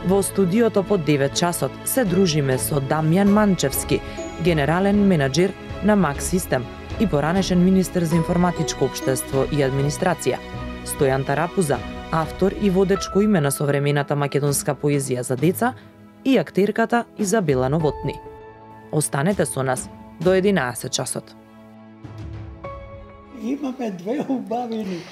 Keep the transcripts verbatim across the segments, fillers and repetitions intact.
Во студиото по девет часот се дружиме со Дамјан Манчевски, генерален менаџер на Мак Систем и поранешен министер за информатичко општество и администрација, Стојан Тарапуза, автор и водечко име на современата македонска поезија за деца, и актерката Изабела Новотни. Останете со нас до единаесет часот. Имаме две убавини.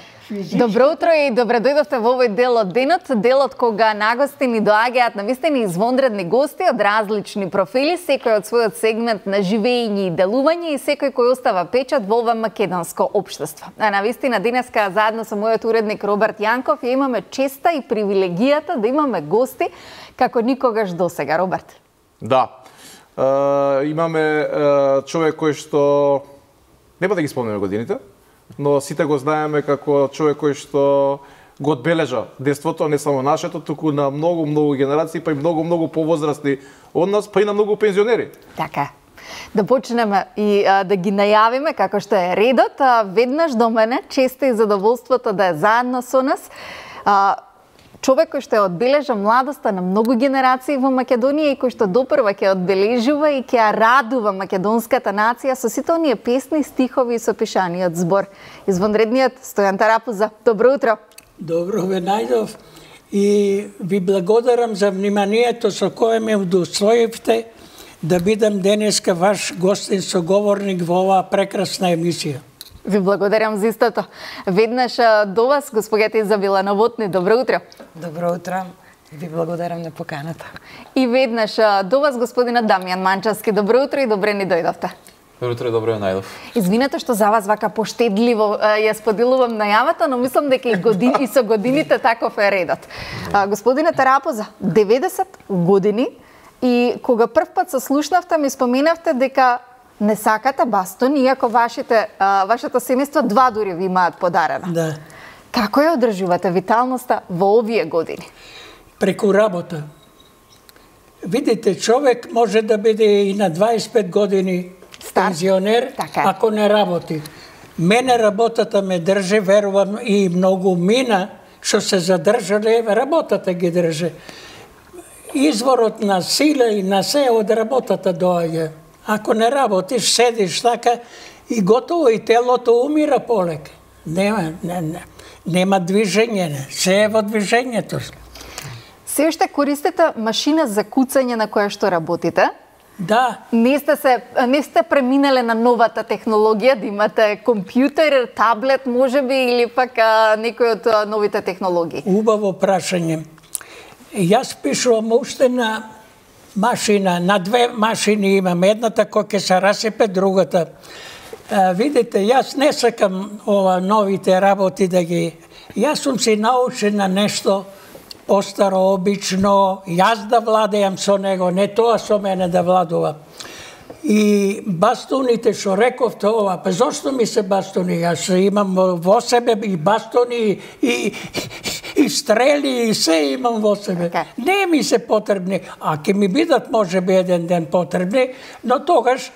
Добро утро и добре дојдовте во овој дел од денот, делот кога на гости ни доаѓаат навистини извонредни гости од различни профили, секој од својот сегмент на живење и делување и секој кој остава печат во ова македонско општество. А навистина денеска заедно со мојот уредник Роберт Јанков ја имаме честа и привилегијата да имаме гости како никогаш досега. Роберт. Да. Е, имаме е, човек кој што нема да ги спомнеме годините, но сите го знаеме како човек кој што го одбележа детството, не само нашето, туку на многу, многу генерации, па и многу, многу повозрастни од нас, па и на многу пензионери. Така. Да почнеме и а, да ги најавиме како што е редот. А, веднаш до мене, често и задоволството да е заедно со нас. А, човек кој што ја одбележа младоста на многу генерации во Македонија и кој што допрва ќе одбележува и ќе ја радува македонската нација со сите оние песни, стихови и сопишаниот збор. Извонредниот Стојан Тарапуза. Добро утро. Добро ве најдов и ви благодарам за вниманието со кое ме удостоивте да бидам денеска ваш гостин соговорник во оваа прекрасна емисија. Ви благодарам за истото. Веднаш до вас, госпоѓата Изабела Новотни. Добро утро. Добро утро. Ви благодарам на поканата. И веднаш до вас, господинот Дамјан Манчевски. Добро утро и добре ни дојдовте. Добро утро, добро ја најдов. Извинете што за вас вака поштедливо ја споделувам најавата, но мислам дека и, години, и со годините таков е редот. Господине Тарапуза, деветдесет години и кога прв пат се слушнавте ми споменавте дека не сакате бастон, иако вашите, а, вашето семејство два дури ви имаат подарена. Да. Како ја одржувате виталноста во овие години? Преку работа. Видите, човек може да биде и на дваесет и пет години Стар. пензионер, Така. ако не работи. Мене работата ме држи, верувам, и многу мина, што се задржале, работата ги држи. Изворот на сила и на се од работата доаѓа. Ако не работиш, седиш така и готово, и телото умира полека. Нема, не, не, нема движење, не. Се е во движењето. Се уште користите машина за куцање на која што работите? Да. Не сте се не сте преминале на новата технологија, да имате компјутер, таблет, можеби, или пак а, некој од а, новите технологии? Убаво прашање. Јас пишувам уште на машина, на две машини имам, едната која ќе се расипе, другата. А, видите, јас не сакам ова новите работи да ги... Јас сум се научен на нешто постаро, обично, јас да владеам со него, не тоа со мене да владува. И бастуните што рековте ова, па зошто ми се бастуни? Јас имам во себе и бастуни, и, и стрели, и се имам во себе. Okay. Не ми се потребни, а ќе ми бидат може би еден ден потребни, но тогаш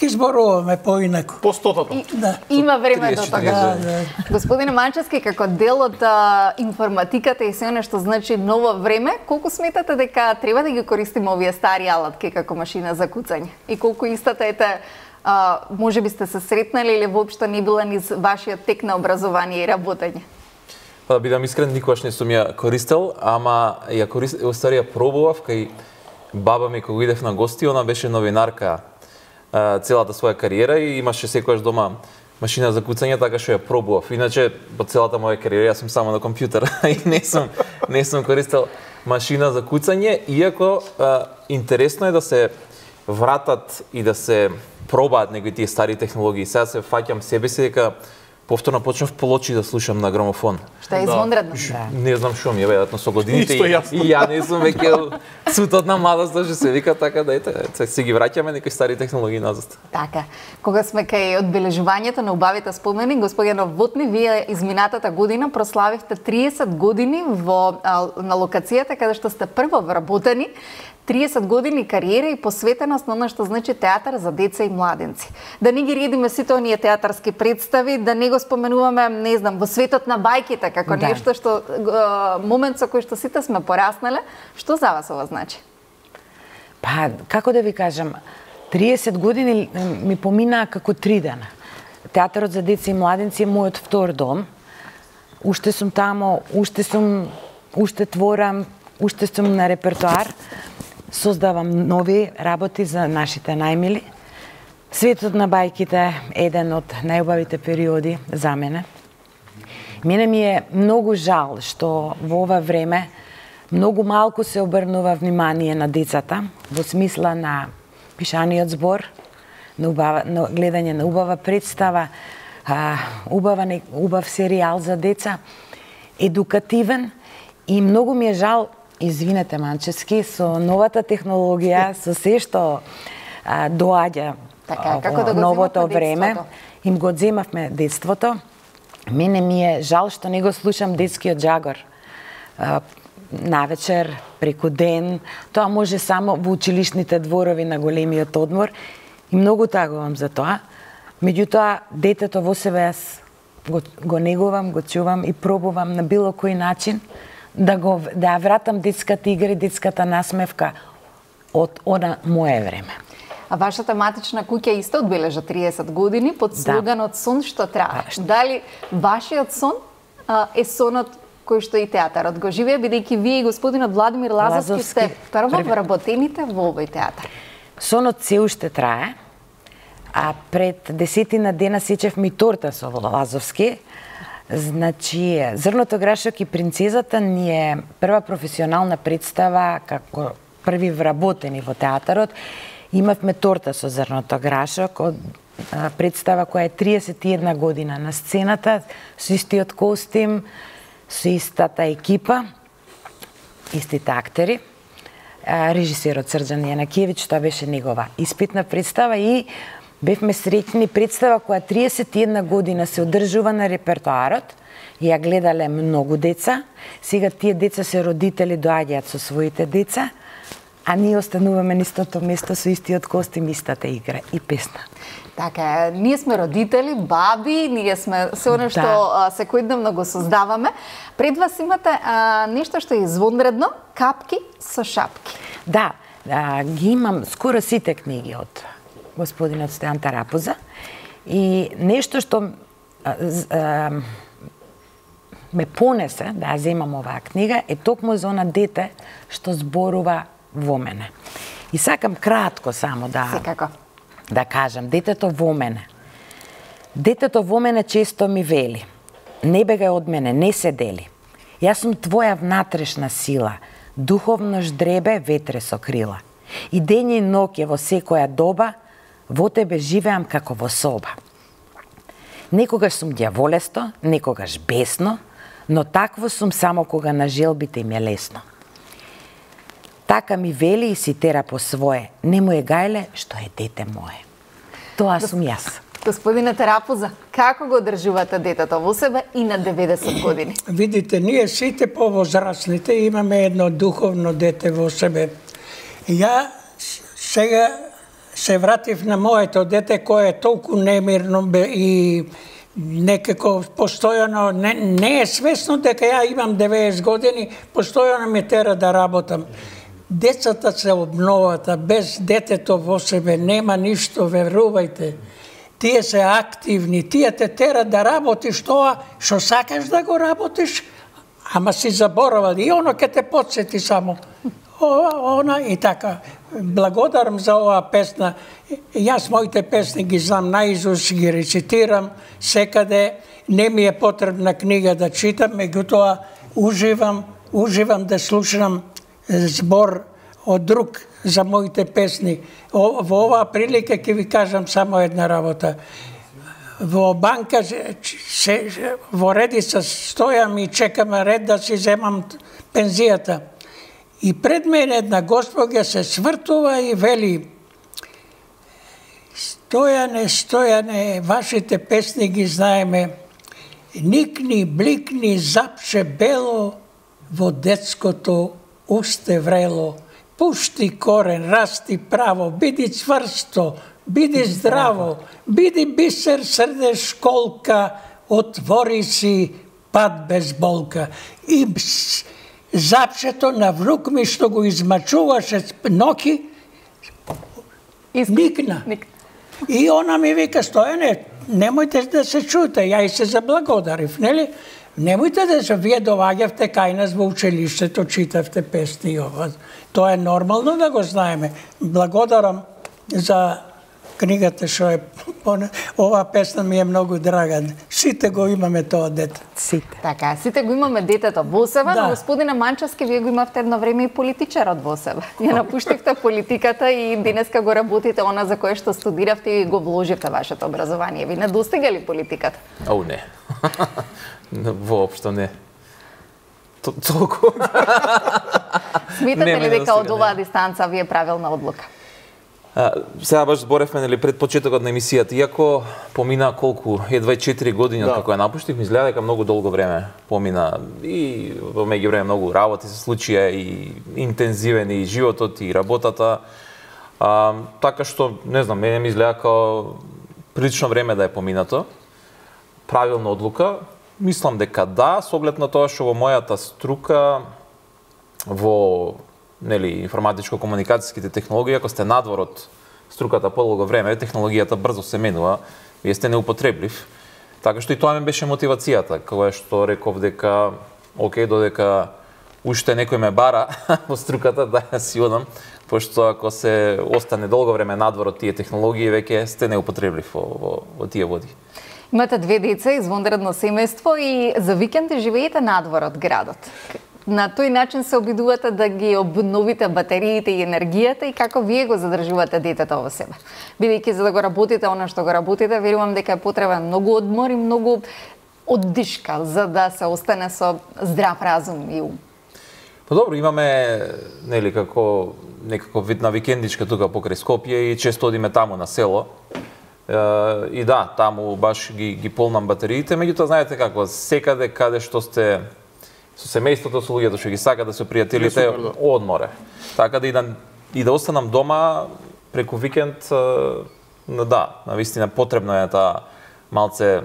ќе зборуваме поинаку. По стотото. И, Да. Има време до тога. Да, да. Господине Манчевски, како дел од а, информатиката и се оно што значи ново време, колку сметате дека треба да ги користиме овие стари алатки како машина за куцање? И колку истата ете, а, може би сте се сретнали или воопшто не била низ вашиот тек на образование и работење? Па да бидам искрен, никогаш не сум ја користел, ама ја користел, устари ја пробував кај баба ми кога идев на гости, она беше новинарка целата своја кариера и имаше секогаш дома машина за куцање, така што ја пробував. Иначе по целата моја кариера јас сум само на компјутер и не сум не сум користел машина за куцање, иако а, интересно е да се вратат и да се пробаат некои тие стари технологии. Сега се фаќам себе си дека повторно почнав полочи да слушам на грамофон. Што е извонредно. Да. Не знам што ми е, веројатно со годините и, Исто и ја не сум веќе цутот на младоста, што се вика, така да ете, се ги враќаме некои стари технологии назад. Така. Кога сме кај одбележувањето на убавите спомени, господја Новотни, вие изминатата година прославивте триесет години во а, на локацијата каде што сте прво вработени. триесет години кариера и посветеност на она што значи театар за деца и младенци. Да не ги редиме сите оние театарски представи, да не го споменуваме, не знам, во светот на бајките, како Да. нешто што момент со кој што сите сме пораснале. Што за вас ова значи? Па, како да ви кажам, триесет години ми поминаа како три дена. Театарот за деца и младенци е мојот втор дом. Уште сум тамо, уште сум, уште творам, уште сум на репертоар. Создавам нови работи за нашите најмили. Светот на бајките е еден од најубавите периоди за мене. Мене ми е многу жал што во ова време многу малку се обрнува внимание на децата во смисла на пишаниот збор, на, убава, на гледање на убава представа, а, убава, убав серијал за деца, едукативен, и многу ми е жал, извинете Манчевски, со новата технологија, со се што а, доаѓа Така, како да го новото земавме време, детството. им го земавме детството. Мене ми е жал што не го слушам детскиот джагор. А, навечер, преку ден, тоа може само во училишните дворови на големиот одмор, и многу тагувам за тоа. Меѓутоа, детето во себе јас го, го негувам, го чувам и пробувам на било кој начин да го да ја вратам детската игра и детската насмевка од она мое време. А вашата матична куќа исто одбележа триесет години под слоганот Сон што трае. А, што- Дали вашиот сон а, е сонот кој што и театарот го живее, бидејќи вие и господинот Владимир Лазовски, Лазовски, сте прво први. вработените во овој театар? Сонот се уште трае, а пред десетина дена сечевме и торта со Лазовски. Значи, Зрното грашок и принцезата ни е прва професионална представа како први вработени во театарот. Имавме торта со Зрното грашок, од а, представа која е триесет и една година на сцената, со истиот костим, со истата екипа, истите актери. А, режисерот Срđan Јанакиевич, тоа беше негова испитна представа, и бевме среќни представа која триесет и една година се одржува на репертоарот, и ја гледале многу деца. Сега тие деца се родители, доаѓаат со своите деца, а ние остануваме на истото место со истиот костим, истата игра и песна. Така е, ние сме родители, баби, ние сме се оно што Да. а, секојдневно го создаваме. Пред вас имате а, нешто што е извонредно, капки со шапки. Да, а, ги имам скоро сите книги од господинот Стојан Тарапуза, и нешто што а, з- а, ме понесе да ја земам оваа книга е токму за она дете што зборува во мене. И сакам кратко само да Секако. да кажам, детето во мене. Детето во мене често ми вели: не бегај од мене, не се дели. Јас сум твоја внатрешна сила, духовно ждребе, ветре со крила. И ден и ноќе во секоја доба, во тебе живеам како во соба. Некогаш сум дјаволесто, некогаш бесно, но такво сум само кога на желбите им е лесно. Така ми вели и си тера по свое, не му е гајле што е дете мое. Тоа сум јас. Господине Тарапуза, како го одржувате детето во себе и на деветдесет години? Видите, ние сите повозрастните имаме едно духовно дете во себе. Ја с- сега се вратив на моето дете кое е толку немирно бе и некако постојано, не, не е свесно дека ја имам деветдесет години, постојано ме тера да работам. Децата се обноват, а без детето во себе нема ништо, верувајте. Тие се активни, тие те тера да работиш тоа што сакаш да го работиш, ама си заборавал и оно ке те подсети само. Ова, она и така. Благодарам за оваа песна. Јас моите песни ги знам наизуст, ги рецитирам секаде. Не ми е потребна книга да читам, меѓутоа уживам, уживам да слушам збор од друг за моите песни. О, во оваа прилика ќе ви кажам само една работа. Во банка се, се, во редица стојам и чекам ред да си земам пензијата. И пред мене една господја се свртува и вели: Стојане, Стојане, вашите песни ги знаеме. Никни, бликни, запше бело, во детското усте врело. Пушти корен, расти право, биди цврсто, биди здраво, биди бисер, срде школка, отвори си пат без болка. И запшето на внук ми што го измачуваше ноки, никна. И она ми вика, Стојане, немојте да се чуете, ја и се заблагодарив, нели? Немојте да се вие доваѓавте кај нас во училиштето, читавте песни и ова. Тоа е нормално да го знаеме. Благодарам за книгата што е ова песна ми е многу драга. Сите го имаме тоа дете. Сите. Така, сите го имаме детето во себе, да. Но господине Манчевски, вие го имавте едно време и политичарот во себе. Ја напуштивте политиката и денеска го работите она за кое што студиравте и го вложивте вашето образование. Ви не достига ли политиката? О, не. Воопшто не. Толку. Смитате ли дека од оваа дистанца ви е правилна одлука? А, сега баш зборевме нели пред почетокот на емисијата, иако помина колку едва четири години да. Како ја напуштив, ми изгледа дека многу долго време помина и во меѓувреме многу работи се случија и интензивен и животот и работата. А, така што не знам, мене ми изгледа како прилично време да е поминато. Правилна одлука, мислам дека да, со оглед на тоа што во мојата струка во нели информатичко-комуникацијските технологии, ако сте надвор од струката подолго време, технологијата брзо се менува, вие сте неупотреблив. Така што и тоа ми беше мотивацијата, кога што реков дека окей, додека уште некој ме бара во струката, да ја си одам, пошто ако се остане долго време надвор од тие технологии, веќе сте неупотреблив во, во, во тие води. Имате две деца, извонредно семејство и за викенди живеете надвор од градот. На тој начин се обидувате да ги обновите батериите и енергијата и како вие го задржувате детето во себе. Бидејќи за да го работите она што го работите, верувам дека е потребен многу одмор и многу оддишка за да се остане со здрав разум и ум. Па добро, имаме нели како некако вид на викендичка тука покрај Скопје и често одиме таму на село. И да, таму баш ги ги полнам батериите, меѓутоа знаете како, секаде каде што сте со семејството, со луѓето што ги сакаат да се пријателите, одморе. Така да и да и да останам дома преку викенд, да, навистина потребно е таа малце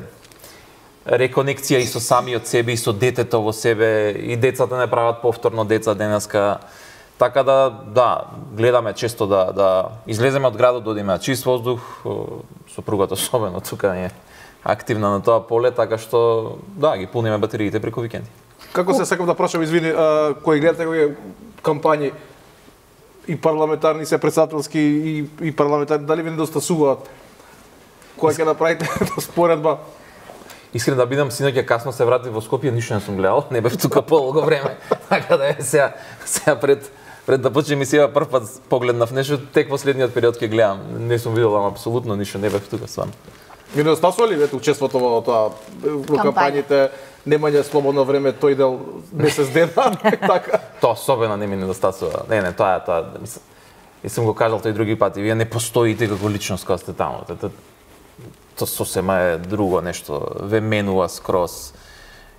реконекција и со самиот себе и со детето во себе, и децата не прават повторно деца денеска. Така да, да, гледаме често да да излеземе од градот, да одиме на чист воздух, сопругата особено тука е активна на тоа поле, така што да, ги пуниме батериите преку викенди. Како се сакам да прашам, извини, а, кои гледате кои кампањи и парламентарни, се председателски и, и парламентарни, дали ви недостасуваат? Која ќе направите споредба? Искрен да бидам, синоќа касно се врати во Скопје, ништо не сум гледал, не бев тука подолго време. Така да е сега, сега пред пред да почне емисија прв пат погледнав нешто, тек последниот период ќе гледам. Не сум видел ама апсолутно ништо, не бев тука стварно. Ви недостасува ли вете учеството во тоа во кампањите? Немање слободно време тој дел месец дена, така. Тоа особено не ми недостасува. Не, не, тоа е тоа, мислам. И сум го кажал тој други пати, вие не постоите како личност кога сте таму. Тоа тоа сосема е друго нешто, ве менува скроз.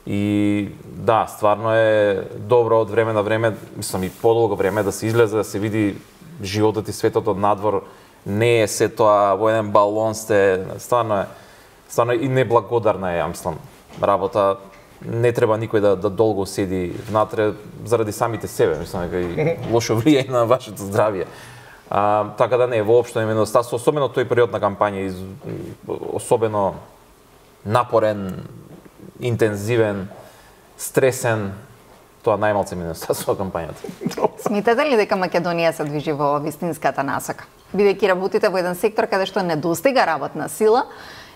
И да, стварно е добро од време на време, мислам и подолго време да се излезе, да се види животот и светот од надвор. Не е се тоа во еден балон сте, стварно е, стварно е и неблагодарна е, ја мислам, работа. Не треба никој да, да долго седи внатре заради самите себе, мислам дека и лошо влијае на вашето здравје. А, така да не, воопшто не ме недостасува, особено тој период на кампања, особено напорен, интензивен, стресен, тоа најмалце ми недостасува кампањата. Смитате ли дека Македонија се движи во вистинската насока? Бидејќи работите во еден сектор каде што не достига работна сила,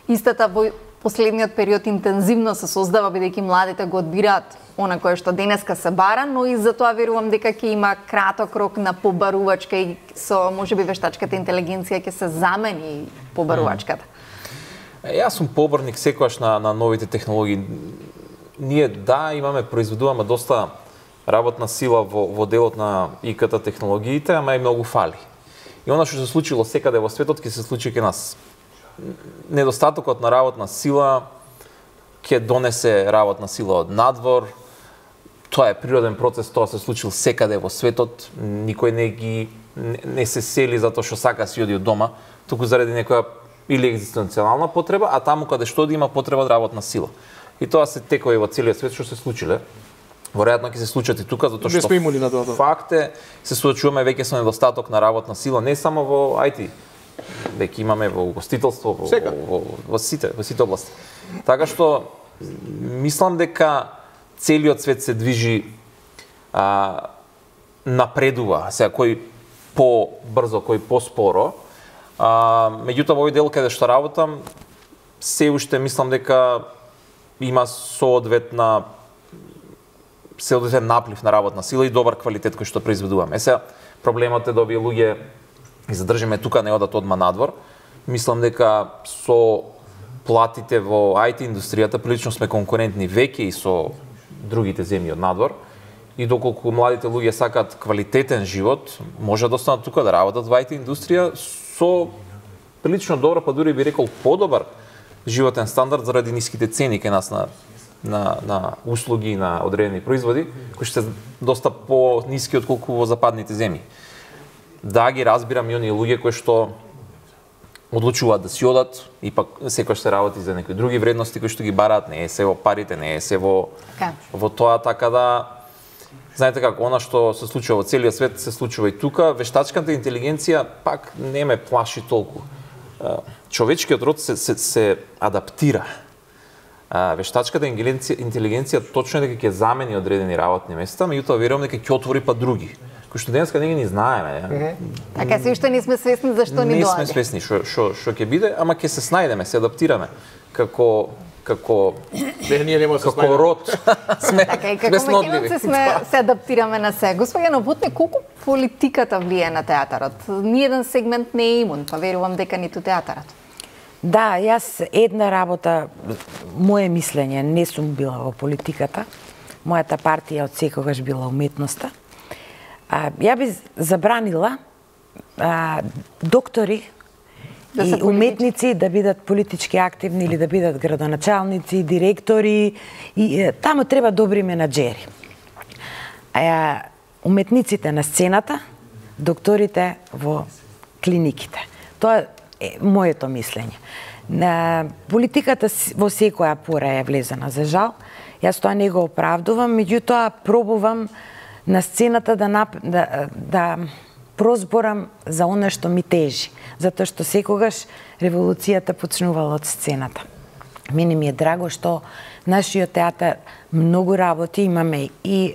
истата во последниот период интензивно се создава бидејќи младите го одбираат она кое што денеска се бара, но и за тоа верувам дека ќе има краток рок на побарувачка и со можеби вештачката интелигенција ќе се замени побарувачката. Јас сум поборник секогаш на, на новите технологии. Ние да, имаме, произведуваме доста работна сила во, во делот на И К Т технологиите, ама и многу фали. И она што се случило секаде во светот ќе се случи кај нас. Недостатокот на работна сила ќе донесе работна сила од надвор. Тоа е природен процес, тоа се случил секаде во светот. Никој не ги не, не се сели затоа што сака си оди од дома, туку заради некоја или екзистенцијална потреба, а таму каде што да има потреба од работна сила. И тоа се текови во целиот свет што се случиле. Веројатно ќе се случат и тука, затоа што факт е, се соочуваме веќе со недостаток на работна сила, не само во ай ти, веќе имаме во угостителство, во, во, во, во сите, во сите области. Така што мислам дека целиот свет се движи, а, напредува, сега кој по-брзо, кој по-споро. А, меѓутоа во овој дел каде што работам, се уште мислам дека има соодветна соодветен наплив на работна сила и добар квалитет кој што произведуваме. Е сега проблемот е да овие луѓе ги задржиме тука, не одат одма надвор. Мислам дека со платите во ай ти индустријата прилично сме конкурентни веќе и со другите земји од надвор. И доколку младите луѓе сакаат квалитетен живот, може да останат тука да работат во ай ти индустрија со прилично добро, па дури би рекол подобар животен стандард заради ниските цени кај нас на на на услуги, на одредени производи, кои се доста по-ниски отколку во западните земји. Да, ги разбирам и оние луѓе кои што одлучуваат да си одат, и пак секој се работи за некои други вредности кои што ги бараат, не е се во парите, не е се во Ка? во тоа, така да знаете како, она што се случува во целиот свет се случува и тука. Вештачката интелигенција пак не ме плаши толку. Човечкиот род се се, се адаптира. Вештачката интелигенција точно е дека ќе замени одредени работни места, меѓутоа верувам дека ќе отвори па други, кои што денеска не ги знаеме. Mm -hmm. Така се уште не сме свесни зашто ни доаѓа. Не сме свесни што што што ќе биде, ама ќе се снајдеме, се адаптираме како како не ние нема се како род. Сме така и како македонци сме се адаптираме на се. Господја Новотне, колку политиката влие на театарот? Ниеден сегмент не е имун, па верувам дека ниту театарот. Да, јас една работа, моje мислење, не сум била во политиката. Мојата партија од секогаш била уметноста. А, ја би забранила а, доктори да и уметници да бидат политички активни или да бидат градоначалници, директори. И, е, таму треба добри менаџери. А, уметниците на сцената, докторите во клиниките. Тоа е моето мислење. На политиката во секоја пора е влезена, за жал. Јас тоа не го оправдувам, меѓутоа пробувам на сцената да, нап... да, да прозборам за она што ми тежи, затоа што секогаш револуцијата почнувала од сцената. Мене ми е драго што нашиот театар многу работи, имаме и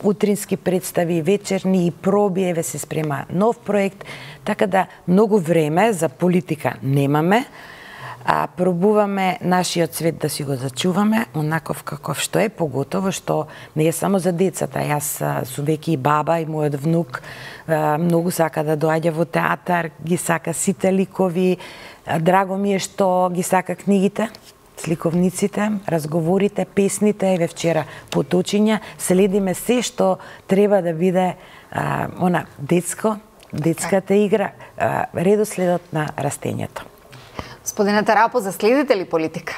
утрински представи, вечерни и проби, еве се спрема нов проект, така да многу време за политика немаме, а пробуваме нашиот свет да си го зачуваме онаков каков што е, поготово што не е само за децата. Јас сум веќе и баба и мојот внук многу сака да доаѓа во театар, ги сака сите ликови. Драго ми е што ги сака книгите, сликовниците, разговорите, песните, еве вчера поточиња, следиме се што треба да биде а, она детско, детската игра, а, редоследот на растењето. Господине Тарапо, заследите ли политика?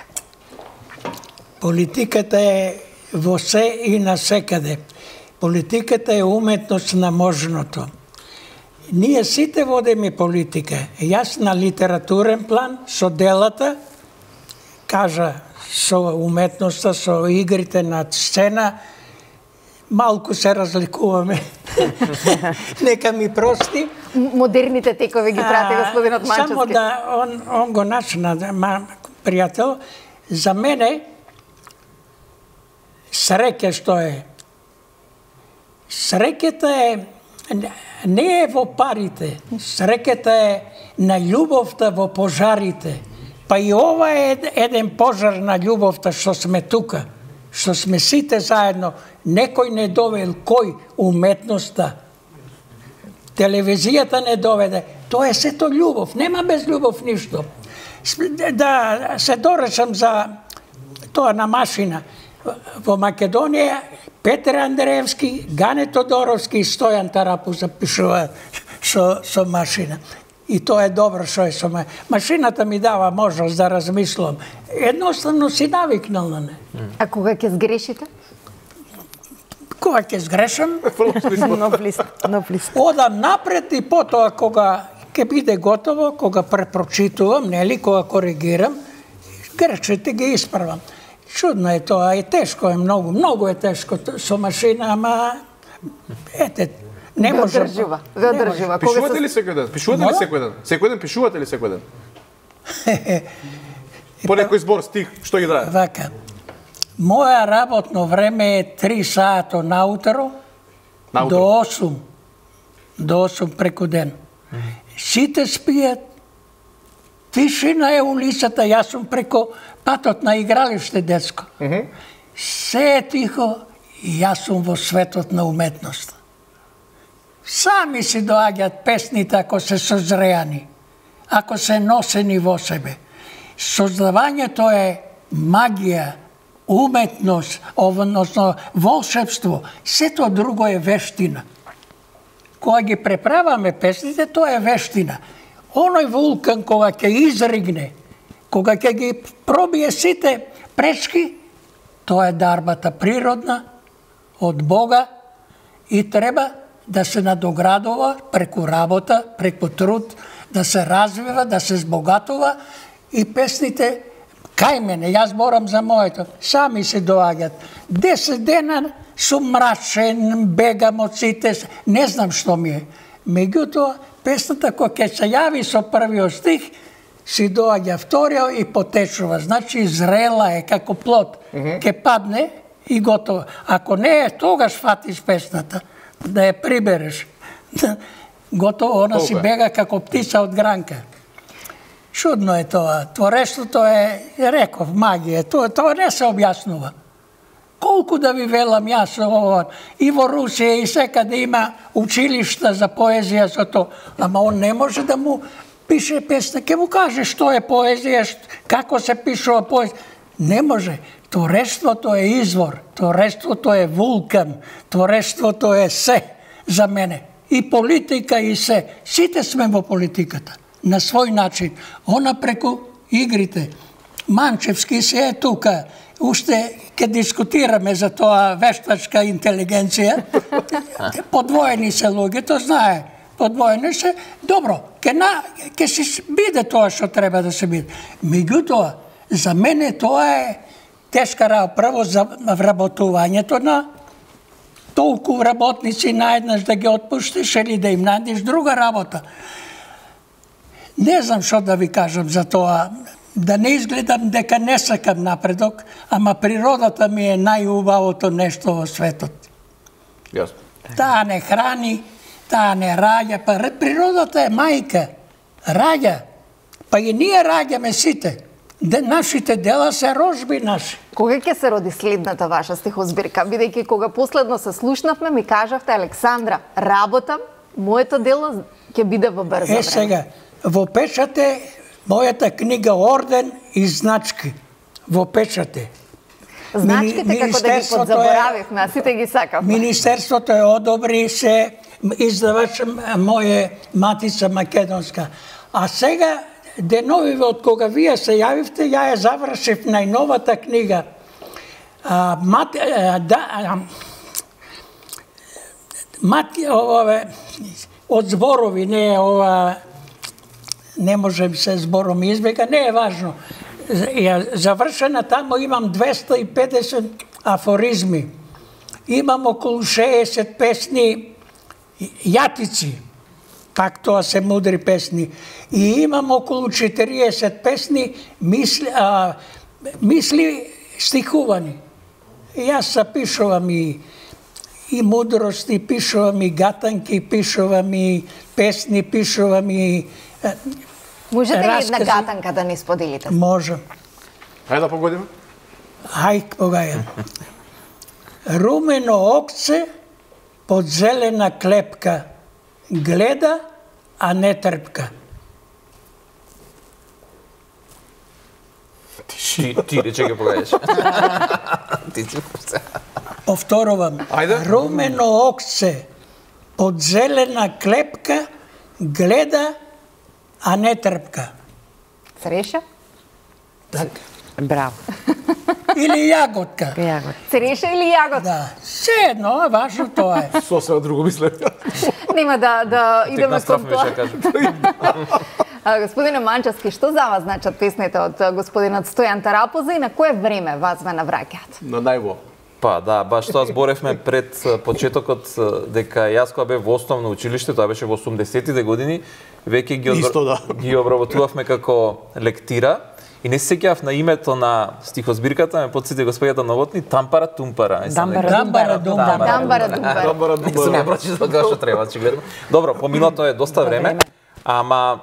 Политиката е во се и на секаде. Политиката е уметност на можното. Ние сите водиме политика. Јас на литературен план со делата, кажа со уметноста, со игрите на сцена, малку се разликуваме. Нека ми прости. Модерните текови ги прати господинот Манчевски. Само да он, он го начна, пријател, за мене среќа што е. Среќата е не е во парите, среќата е на љубовта во пожарите. Па и ова е еден пожар на љубовта што сме тука, што сме сите заедно. Некој не довел, кој? Уметноста. Телевизијата не доведе. Тоа е сето љубов, нема без љубов ништо. Да се доречам за тоа на машина. Во Македонија Петер Андреевски, Гане Тодоровски и Стојан Тарапу запишуваат со, со машина. И тоа е добро што е со ме. Машината ми дава можност да размислам. Едноставно си навикнал на не. А кога ќе сгрешите? Кога ќе сгрешам, Нов лист, нов лист. одам напред и потоа кога ќе биде готово кога препрочитувам, нели, кога коригирам, грешките ги исправам. Чудно е тоа, и тешко е многу, многу е тешко со машина, ама ете, не може. Ве одржува, ве одржува. Пишувате ли секој ден? Пишувате ли секој ден? Секој ден пишувате ли секој ден? По некој збор, стих, што ги драе? Вака. Моја работно време е три сата наутро до осум. До осум преку ден. Сите спијат, тишина е улицата, јас сум преко патот на игралиште детско. Се е тихо, јас сум во светот на уметноста. Сами си доаѓаат песните ако се созреани, ако се носени во себе. Создавањето е магија, уметност, односно волшебство, сето друго е вештина. Кога ги преправаме песните, тоа е вештина. Оној вулкан кога ќе изригне, кога ќе ги пробие сите пречки, тоа е дарбата природна од Бога и треба да се надоградува преку работа, преку труд, да се развива, да се збогатува и песните кај мене, јас борам за моето, сами се доаѓат. Десет дена сум мрачен, бегам од сите, не знам што ми е. Меѓутоа, песната која ќе се јави со првиот стих, си доаѓа вториот и потечува. Значи, зрела е како плод. Ќе падне и готово. Ако не е, тогаш фатиш песната, да ја прибереш. Готово, она си бега како птица од гранка. Чудно е тоа. Творештвото е, реков, магија. Тоа, тоа не се објаснува. Колку да ви велам јас ова, и во Русија и секаде има училишта за поезија за тоа, ама он не може да му пише песна, ќе му каже што е поезија, како се пишува поезија. Не може. Творештвото е извор, творештвото е вулкан, творештвото е се за мене. И политика и се. Сите сме во политиката. На свој начин. Она преку игрите. Манчевски се е тука. Уште ќе дискутираме за тоа вештачка интелигенција. Подвоени се луѓето, знае. Подвоени се. Добро, ќе на ќе се биде тоа што треба да се биде. Меѓутоа, за мене тоа е тешка работа. Прво за вработувањето на толку работници наеднаш да ги отпуштиш или да им најдеш друга работа. Не знам што да ви кажам за тоа. Да не изгледам дека не сакам напредок, ама природата ми е најубавото нешто во светот. Јасно. Таа не храни, таа не раѓа, па природата е мајка. Раѓа. Па и ние раѓаме сите. Де, нашите дела се рожби наши. Кога ќе се роди следната ваша стихозбирка? Бидејќи кога последно се слушнавме, ми кажавте, Александра, работам, моето дело ќе биде во брзо време. Е, сега, во печат е мојата книга Орден и значки. Во печат е. Значките Мини, како да ги подзаборавивме, а сите ги сакавме. Министерството е одобри се издавач моје Матица Македонска. А сега, деновиве од кога вие се јавивте, ја ја завршив најновата книга. А, мат, а, да, а, мат, ове, од зборови, не е ова, не можем се збором избега, не е важно. Ја завршена тамо имам двеста и педесет афоризми. Имам околу шеесет песни јатици, пак тоа се мудри песни. И имам околу четириесет песни мисли, а, мисли стихувани. И јас запишувам и, и мудрости, пишувам и гатанки, пишувам и песни, пишувам и Можете ли раскази. една гатанка да ни споделите? Можем. Хајде да погодиме. Хај, погаја. Румено окце под зелена клепка гледа, а не трпка. Ти, ти рече ќе погаеш. Ти си Повторувам. Ајде. Румено окце под зелена клепка гледа, а не трпка. Цреша? Така. Браво. Или јаготка. Јагот. Цреша или јагот? Да. Се едно, важно тоа е. Сосема друго мисле. Нема да да идеме Тек кон тоа. кажам. Господине Манчевски, што за вас значат песните од господинот Стојан Тарапуза и на кое време вас ве навраќаат? На најво. Па да, баш тоа зборевме пред почетокот дека јас кога бев во основно училиште, тоа беше во осумдесеттите години, веќе ги, Исто, да. ги обработувавме како лектира. И не се сеќавав на името на стихозбирката, ме потсети господјата Новотни, Тампара Тумпара. Дамбара, Дамбара, думбара. Дамбара, думбара. Добра, Не сум ја прочитал како што треба, очигледно. Добро, помина тоа е доста време, ама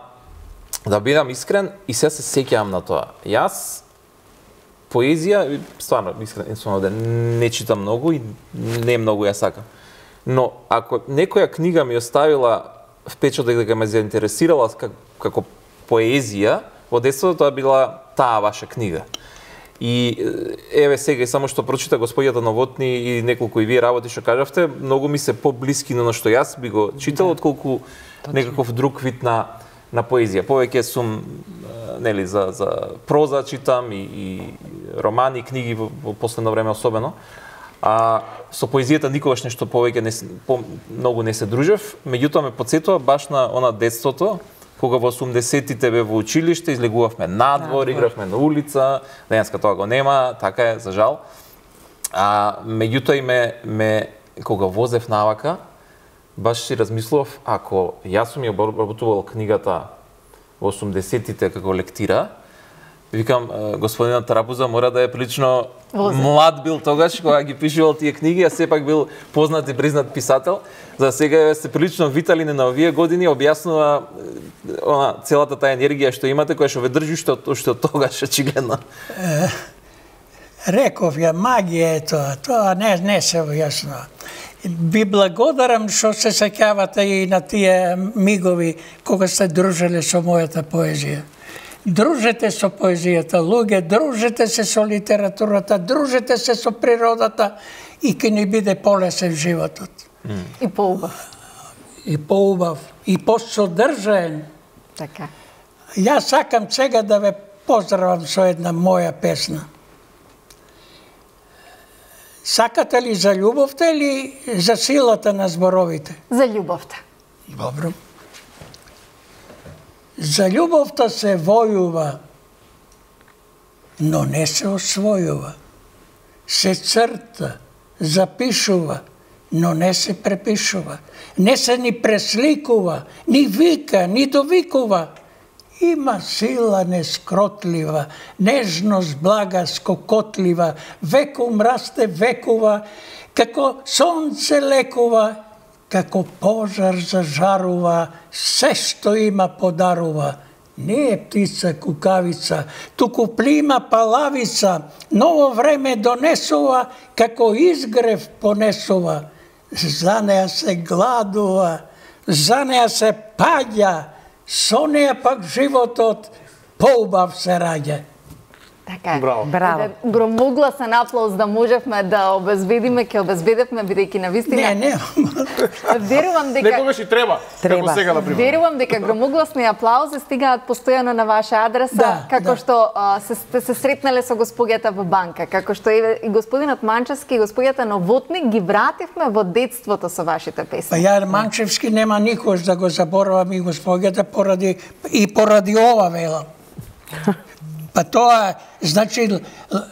да бидам искрен и се се сеќавам на тоа. Јас поезија, стварно искрен сум овде, не читам многу и не многу ја сакам. Но ако некоја книга ми оставила впечаток дека ме заинтересирала како, како поезија, во детството тоа била таа ваша книга. И еве сега и само што прочита господјата Новотни и неколку и вие работи што кажавте, многу ми се поблиски на што јас би го читал, да, отколку точно некаков друг вид на на поезија. Повеќе сум нели за за проза читам и, и романи, книги во, во последно време особено. А со поезијата никогаш нешто повеќе не по, многу не се дружев, меѓутоа ме потсетува баш на она детството, кога во осумдесеттите бе во училиште, излегувавме надвор, игравме на улица, денеска тоа го нема, така е, за жал. А меѓутоа и ме, ме кога возев навака, баш си размислував, ако јас сум ја обработувал книгата во осумдесеттите како лектира, викам, господинот Тарапуза мора да е прилично млад бил тогаш, кога ги пишувал тие книги, а сепак бил познат и признат писател. За сега сте прилично виталини на овие години, објаснува она целата таа енергија што имате, која што ве држи што што тогаш очигледно. Реков ја, магија е тоа, тоа не, не се јасно. Би благодарам што се сеќавате и на тие мигови кога сте дружеле со мојата поезија. Дружете со поезијата, луѓе, дружете се со литературата, дружете се со природата и ќе ни биде полесен животот. Mm. И поубав. И поубав, и посодржаен. Така. Јас сакам сега да ве поздравам со една моја песна. Сакате ли за љубовта или за силата на зборовите? За љубовта. Добро. За љубовта се војува, но не се освојува. Се црта, запишува, но не се препишува. Не се ни пресликува, ни вика, ни довикува. Има сила нескротлива, нежност блага скокотлива, векум расте векува, како сонце лекува, како пожар зажарува, се што има подарува. Не е птица кукавица, туку плима палавица, ново време донесува, како изгрев понесува. За неа се гладува, за неа се паѓа, со неа пак животот поубав се раѓа. Така е. Браво. Браво. Громогласен аплауз да можевме да обезбедиме, ќе обезбедевме, бидејќи на вистина. Не, не. Верувам дека Некогаш и треба, Треба. како сега, например. Верувам дека громогласни аплаузи стигаат постојано на ваша адреса, Да, како да. што а, се сте се сретнале со господјата во банка, како што и, и господинот Манчевски и господјата Новотни ги вративме во детството со вашите Па песни. ја Манчевски нема никош да го заборавам и господјата поради и поради ова велам. Па тоа, значи,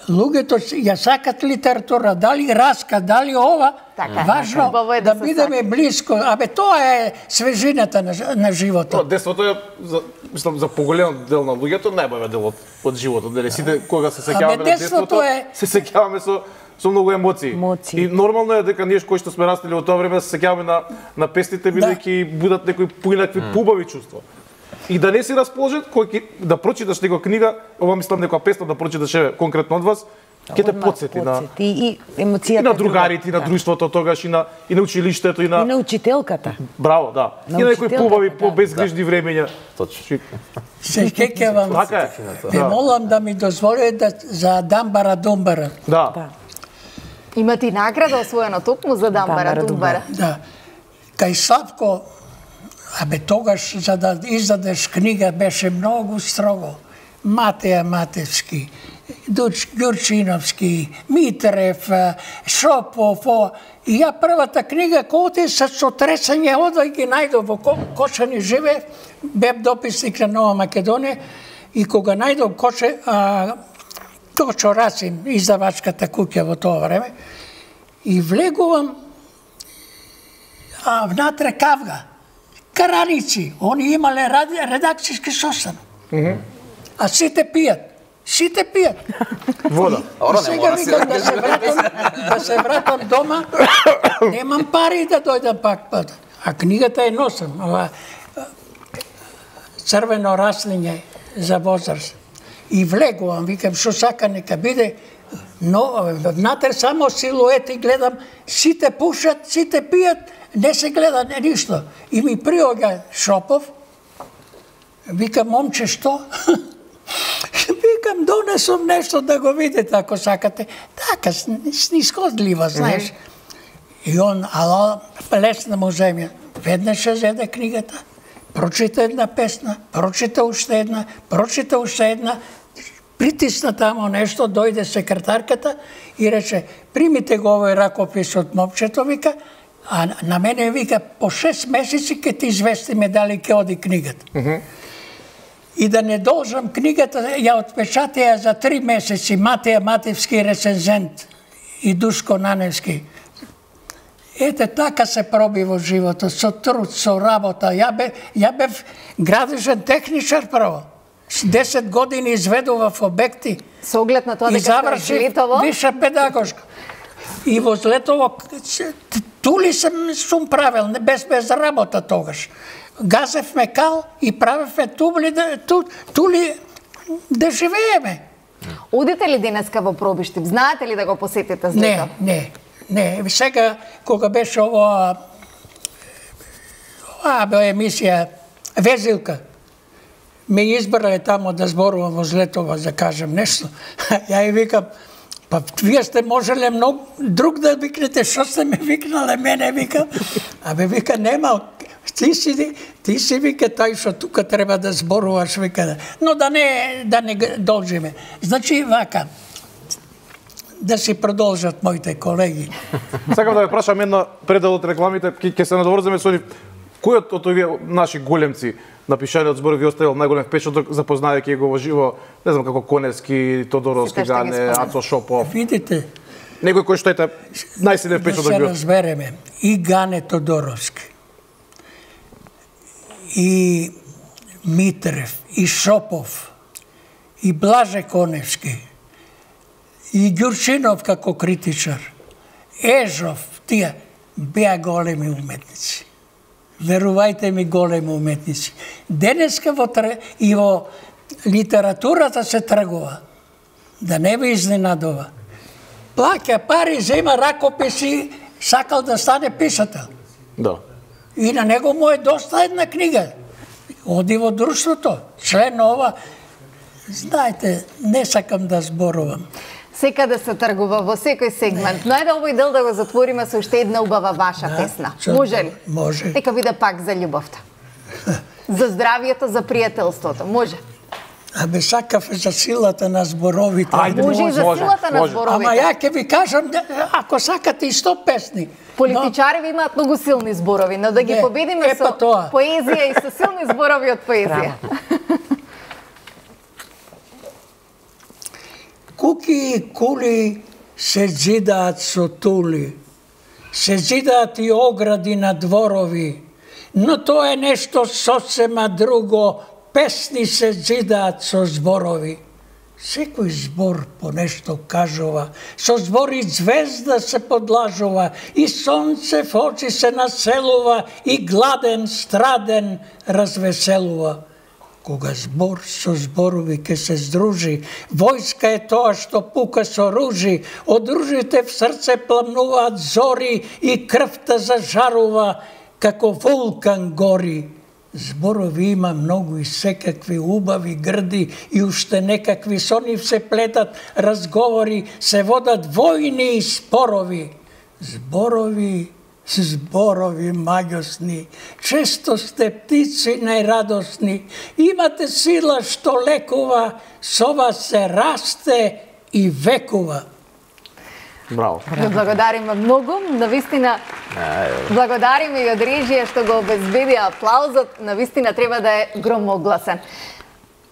луѓето ја сакат литература, дали раска, дали ова, Така, важно убаво е да да се бидеме сака. блиско. Абе, тоа е свежината на, на Тоа, животот. детството е, за, мислам, за поголем дел на луѓето, најбаве дел од, од животот. Дали сите, кога се сеќаваме на детството детството, е- се сеќаваме со со многу емоции. Емоции. И нормално е дека ние кои што сме растели во тоа време се сеќаваме на на песните бидејќи будат некои поинакви поубави чувства. И да не си расположен, кој ќе да прочиташ некоја книга, ова мислам некоја песна да прочиташ еве конкретно од вас, ќе те Одмah потсети на потсети. И емоцијата и на е друга. другарите, и на Да. друштвото тогаш, и на и на училиштето, и И на на учителката. браво, да. На И на некои учителката, побави, да. по-безгрижни времења. Точно. Се сеќавам. Така е. Те Да. молам да ми дозволите да, за Дамбара Думбара. Да. Да. Имате и награда освоена токму за Дамбара Дамбара Думбара. Да. Кај Славко, абе тогаш за да издадеш книга беше многу строго. Матеја Матевски, Ѓурчиновски, Митрев, Шопов, о, и ја првата книга кој со сотресање одој ги најдов во Кошани живе, бев дописник на Нова Македонија и кога најдов Коше, а, Точо Расин, издавачката куќа во тоа време, и влегувам, а внатре кавга, караници, они имале редакцијски состан, mm-hmm. а сите пијат. Сите пијат. Вода. И, и сега викам да се вратам, да се вратам дома, немам пари да дојдам пак. А книгата е носам, ова црвено раслиње за возраст. И влегувам, викам, шо сака нека биде, но внатре само силуети гледам, сите пушат, сите пијат, не се гледа ништо. И ми приоѓа Шопов, викам, момче, што? Викам, донесам нешто да го видите, ако сакате. Така, снисходлива, знаеш. И он, ала, лесна му земја. Веднаш ја зеде книгата, прочита една песна, прочита уште една, прочита уште една, притисна тамо нешто, дојде секретарката и рече, примите го овој ракопис од момчето, вика, а на мене вика, по шест месеци ке ти известиме дали ке оди книгата. И да не должам книгата, ја отпечатија за три месеци Матеја Матевски рецензент и Душко Наневски. Ете, така се проби во животот, со труд, со работа. Ја бев, ја бев градежен техничар прво. С десет години изведував обекти. Со оглед на тоа дека завршив Летово? виша педагошка. И во Летово, тули сум, сум правил, без, без работа тогаш. Газев мекал и правевме тули, ту, тули да живееме. Одите ли денеска во Пробиштип? Знаете ли да го посетите Злето? Не, не, не. Сега, кога беше ова, ова бе емисија Везилка, ме избрале тамо да зборувам во Злетово, да кажем нешто. Ја и викам, па вие сте можеле многу друг да викнете, што сте ме викнале мене, викам. Абе, вика, нема, ти си, ти си вика тај што тука треба да зборуваш, вика. Но да не, да не должиме. Значи, вака, да си продолжат моите колеги. Сакам да ве прашам една предел од рекламите, ќе се надоврземе со нив. Кој од овие наши големци на пишаниот збор ви оставил најголем впечаток, запознајќи го во живо, не знам како Коневски, Тодоровски, Гане, Ацо Шопов. Видите, некој кој што ете најсилен впечаток бил. Да се разбереме, и Гане Тодоровски, и Митрев, и Шопов, и Блаже Коневски, и Ѓурчинов како критичар, Ежов, тие беа големи уметници. Верувајте ми, големи уметници. Денеска во и во литературата се тргува. Да не ви изненадува. Плаќа пари, зема ракописи, сакал да стане писател. Да. И на него му е доста една книга. Оди во друштвото, член ова. Знаете, не сакам да зборувам. Секаде се тргува во секој сегмент. Но ајде овој дел да го затвориме со уште една убава ваша да, песна. чо, Може ли? Може. Нека биде пак за љубовта. За здравието, за пријателството. Може. Абе, сакав за силата на зборовите. Ајде, може и за може, силата на може. зборовите. Ама ја ќе ви кажам, ако сакате и сто песни. Политичари ви имаат многу силни зборови, но да ги Не, победиме е, па со тоа. поезија и со силни зборови од поезија. Куки и кули се зидаат со тули, се зидаат и огради на дворови, но тоа е нешто сосема друго, песни се зидаат со зборови. Секој збор по нешто кажува, со збори звезда се подлажува, и сонце в очи се населува, и гладен, страден развеселува. Кога збор со зборови ке се здружи, војска е тоа што пука со ружи, од ружите в срце пламнуваат зори и крвта зажарува, како вулкан гори. Зборови има многу и секакви убави грди и уште некакви со нив се плетат разговори, се водат војни и спорови. Зборови зборови маѓосни, често сте птици најрадосни, имате сила што лекува, со вас се расте и векува. Браво. Ви благодариме многу, навистина благодариме и од режија што го обезбеди аплаузот, навистина треба да е громогласен.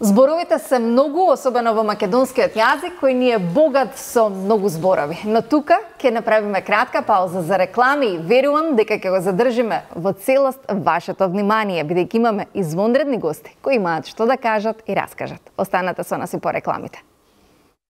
Зборовите се многу, особено во македонскиот јазик, кој ни е богат со многу зборови. Но тука ќе направиме кратка пауза за реклами и верувам дека ќе го задржиме во целост вашето внимание, бидејќи имаме извонредни гости кои имаат што да кажат и раскажат. Останете со нас и по рекламите.